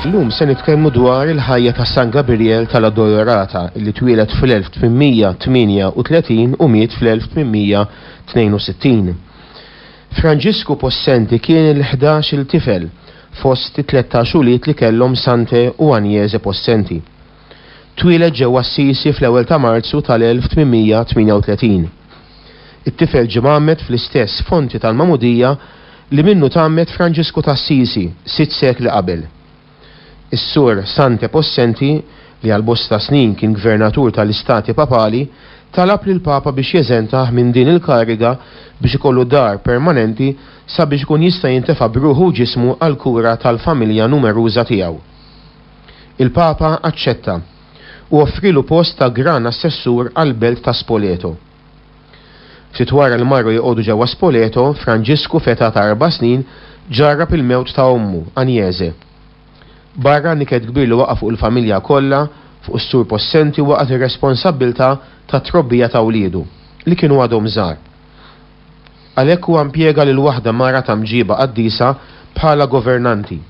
Illum se nitkellmu dwar il-ħajja ta' San Gabriel tal-Addolorata li twieled fl-1838 u miet fl-1862. Franġisku Possenti kien il-ħdax-il tifel fost it-3 ulied li kellhom Sante u Agnese Possenti. Twieled ġewwa Assisi fl-ewwel ta' Marzu tal-1838. It-tifel ġie mgħammed fl-istess fonti tal-magħmudija li minnu tgħammed Franġisku t'Assisi sitt sekli qabel. Is-Sur Sante Possenti, li għal bosta snin kien gvernatur tal-Istati Papali, talab lill-Papa biex jeżentah minn din il-kariga biex ikollu dar permanenti sabiex ikun jista' jintefa' b'ruħu u ġismu għall-kura tal-familja numeruża tiegħu. Il-Papa aċċetta u offrielu post ta' Gran Assessur għall-belt ta' Spoleto. Ftit wara li marru joqogħdu ġewwa Spoleto, Franġisku f'età ta' erba' snin ġarrab il-mewt ta' ommu, Agnese. Barra n-niket kbir li waqa' fuq il-familja kollha, fuq is-Sur Possenti waqgħet ir-responsabbiltà tat-trobbija ta' wliedu, li kienu għadhom żgħar. Għalhekk huwa impjega lil waħda mara ta' mġiba qaddisa bħala governanti,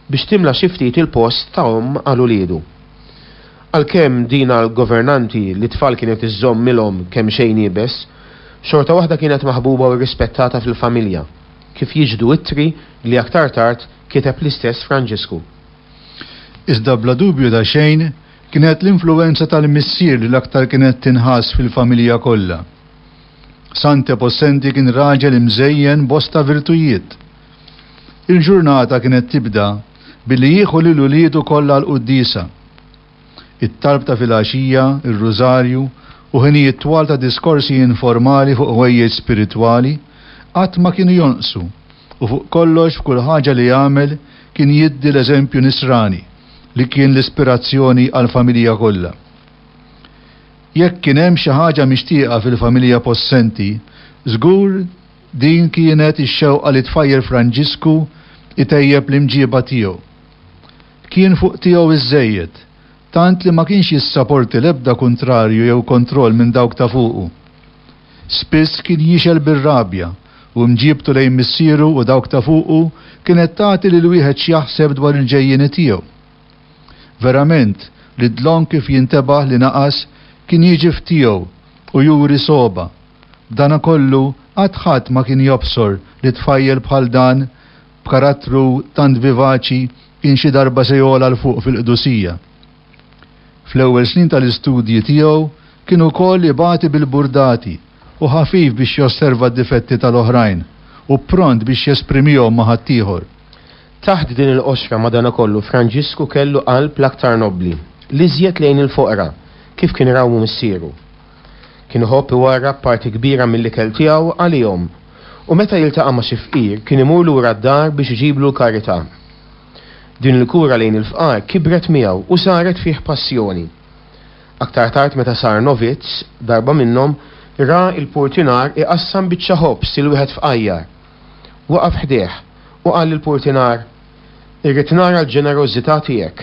biex timla xi ftit il-post ta' omm għal uliedu. Għalkemm din għall-governanti li t-tfal kienet iżżommilhom kemxejn iebes, xorta waħda kienet maħbuba u rrispettata fil-familja, kif jixhdu ittri li aktar tard kiteb l-istess Franġisku. Iżda bla dubju ta' xejn, kienet l-influwenza tal-missier li l-aktar kienet tinħass fil-familja kollha. Sante Possenti kien raġel imżejjen bosta virtujiet. Il-ġurnata kienet tibda billi jieħu lil uliedu kollha għall-quddiesa. It-talb ta' filgħaxija, ir-rużarju, u ħinijiet twal ta' diskorsi informali fuq ħwejjeġ spiritwali qatt ma kienu jonqsu u fuq kollox f'kull ħaġa li jagħmel kien jiddi l-eżempju nisrani li kien l-ispirazzjoni għall-familja kollha. Jekk kien hemm xi ħaġa mixtieqa fil-familja Possenti, żgur din kienet ix-xewqa li tfajjel Franġisku jtejjeb l-imġieba tiegħu. Kien fuq tiegħu iżżejjed, tant li ma kienx jissaporti l-ebda kuntrarju jew kontroll minn dawk ta' fuqu. Spiss kien jixgħel bir-rabja u mġiebtu lejn missieru u dawk ta' fuqu kienet tagħti lil wieħed x'jaħseb dwar il-ġejjieni tiegħu. Verament li dlonk kif jintebaħ li naqas kien jiġi f'tiegħu u juri sogħba. B'danakollu qatt ħadd ma kien jobsor li tfajjel bħal dan b'karattru tant vivaċi kien xi darba se jogħla 'l fuq fil-qdusija. Fl-ewwel snin tal-istudji tiegħu kien ukoll ibati bil-burdati u ħafif biex josserva d-difetti tal-oħrajn u pront biex jesprimihom ma' ħaddieħor. Taħt din il-qoxra madanakollu Franġisku kellu qalb l-aktar nobbli, l-iżjed lejn il-foqra, kif kien rawmu missieru. Kien iħobb iwarrab parti kbira mill-ikel tiegħu għalihom u meta jiltaqa' ma' xi fqir kien imur lura d-dar biex iġiblu l-karità. Din il-kura lejn il-fqar kibret miegħu u saret fih passjoni. Aktar tard meta sar novizz, darba minnhom, ra l-purtinar iqassam biċċa ħobż lil wieħed fqajjar. Waqaf ħdejh u qal lill-purtinar, Irrid nara l-ġenerożità tiegħek.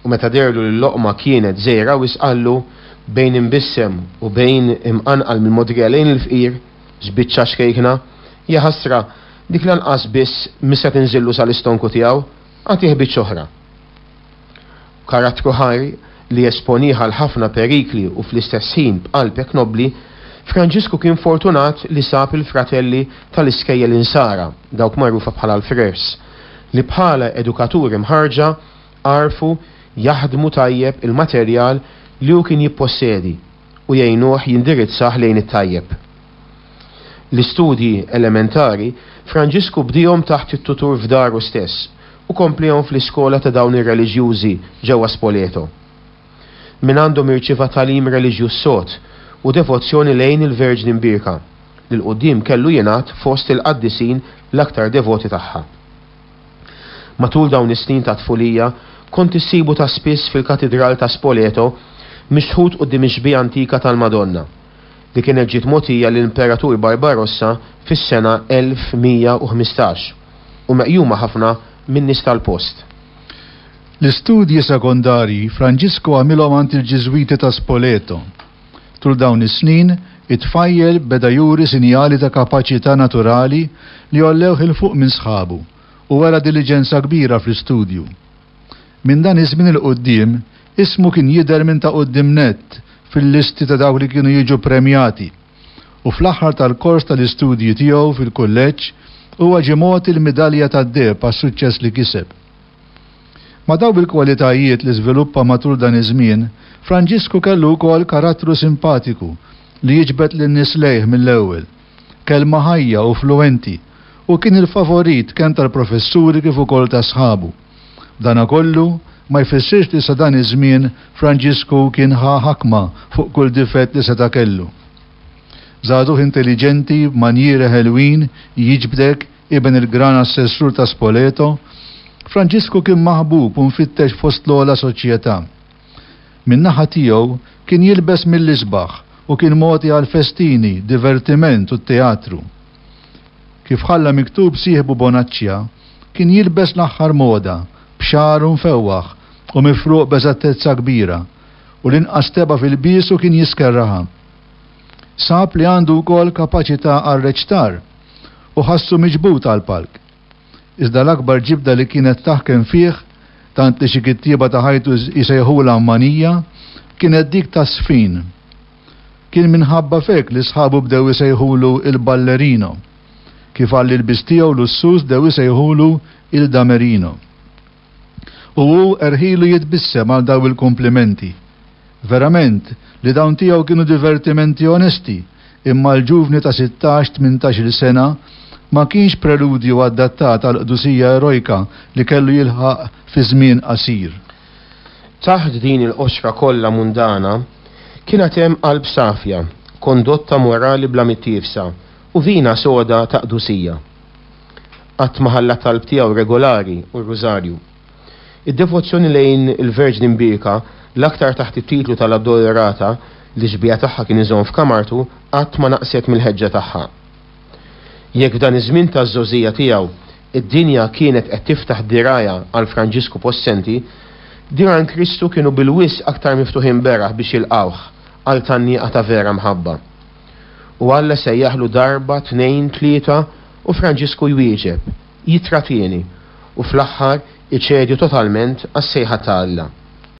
U meta deherlu li l-loqma kienet żgħira wisq qallu, bejn imbissem u bejn imqanqal mill-mogħdrija lejn il-fqir, X'biċċa xkejkna! Jaħasra, dik lanqas biss mhi se tinżillu sal-istonku tiegħu, agħtih biċċa oħra. B'karattru ħaj li jesponih għal ħafna perikli u fl-istess ħin b'qalb hekk nobbli, Franġisku kien fortunat li sab il-fratelli tal-iskejjel Insara, dawk magħrufa bħala l-frers, li bħala edukaturi mħarrġa għarfu jaħdmu tajjeb il-materjal li hu kien jippossedi u jgħinuh jindirizzah lejn it-tajjeb. L-istudji elementari Franġisku bdiehom taħt it-tutur f'daru stess u kompliehom fl-iskola ta' dawn ir-reliġjużi ġewwa Spoleto. Mingħandhom irċieva tagħlim reliġjuż sod u devozzjoni lejn il-Verġni Mbierka, li 'l quddiem kellu jingħadd fost il-qaddisin l-aktar devoti tagħha. Matul dawn is-snin ta' tfulija kont issibu ta' spiss fil-Katidral ta' Spoleto mixħut quddiem ix-xbieha antika tal-Madonna, li kienet ġiet mogħtija lill-Imperatur Barbarossa fis-sena 1115 u meqjuma ħafna min-nies tal-post. L-istudji sekondarji Franġisku għamilhom għand il-Ġiżwiti ta' Spoleto. Tul dawn is-snin, it-tfajjel beda juri sinjali ta' kapaċità naturali li għollewh 'il fuq minn sħabu u wera diliġenza kbira fl-istudju. Minn dan iż-żmien 'il quddiem, ismu kien jidher minn ta' quddiem nett fil-listi ta' dawk li kienu jiġu ppremjati, u fl-aħħar tal-kors tal-istudji tiegħu fil-kulleġġ huwa ġie mogħti l-midalja tad-deheb għas-suċċess li kiseb. Ma' dawk il-kwalitajiet li żviluppa matul dan iż-żmien, Franġisku kellu wkoll karattru simpatiku li jiġbed lin-nies lejh mill-ewwel, kelma ħajja u fluwenti, u kien il-favorit kemm tal-professuri kif ukoll ta' sħabu. B'danakollu, ma jfissirx li sa dan iż-żmien Franġisku kien ħa ħakma fuq kull difett li seta' kellu. Żagħżugħ intelliġenti, b'manjieri ħelwin, jiġbdek, iben il-Gran Assessur ta' Spoleto, Franġisku kien maħbub u mfittex fost l-ogħla soċjetà. Min-naħa tiegħu, kien jilbes mill-isbaħ u kien mogħti għall-festini, divertiment u t-teatru. Kif ħalla miktub sieħbu Bonaccia, kien jilbes l-aħħar moda, b'xagħru mfewwaħ u mifruq b'eżattezza kbira, u l-inqas tebgħa f'ilbiesu kien jiskerraha. Sab li għandu wkoll kapaċità għar-reċtar u ħassu miġbud għall-palk. Iżda l-akbar ġibda li kienet taħkem fih, tant li xi kittieba ta' ħajtu jsejħulha manija, kienet dik taż-żfin. Kien minħabba f'hekk li sħabu bdew isejħulu il-Ballerino. Kif għall-ilbies tiegħu lussuż bdew isejħulu il Damerino. U hu erħilu jitbissem għal dawn il-kumplimenti. Verament li dawn tiegħu kienu divertimenti onesti, imma l-ġuvni ta' sittax, tmintax-il sena ma kienx preludju adattat għall-qdusija erojka li kellu jilħaq fi żmien qasir. Taħt din il-qoxra kollha mundana kien għad hemm qalb safja, kondotta morali bla mittiefsa u vina soda ta' qdusija. Qatt ma ħalla t-talb tiegħu regolari u r-Rużarju. Id-devozzjoni lejn il-Verġni Mbierka, l-aktar taħt it-titlu tal-Addolorata, li x-xbieha tagħha kien iżomm f'kamartu, qatt ma naqset mill-ħeġġa tagħha. Jekk f'dan iż-żmien taż-żgħożija tiegħu id-dinja kienet qed tiftaħ dirgħajha għal Franġisku Possenti, dirgħajn Kristu kienu bil-wisq aktar miftuħin beraħ biex jilqgħuh għal tgħanniqa ta' vera mħabba. U Alla sejjaħlu darba, tnejn, tlieta, u Franġisku jwieġeb, jittratieni, u fl-aħħar iċedi totalment għas-sejħa ta' Alla.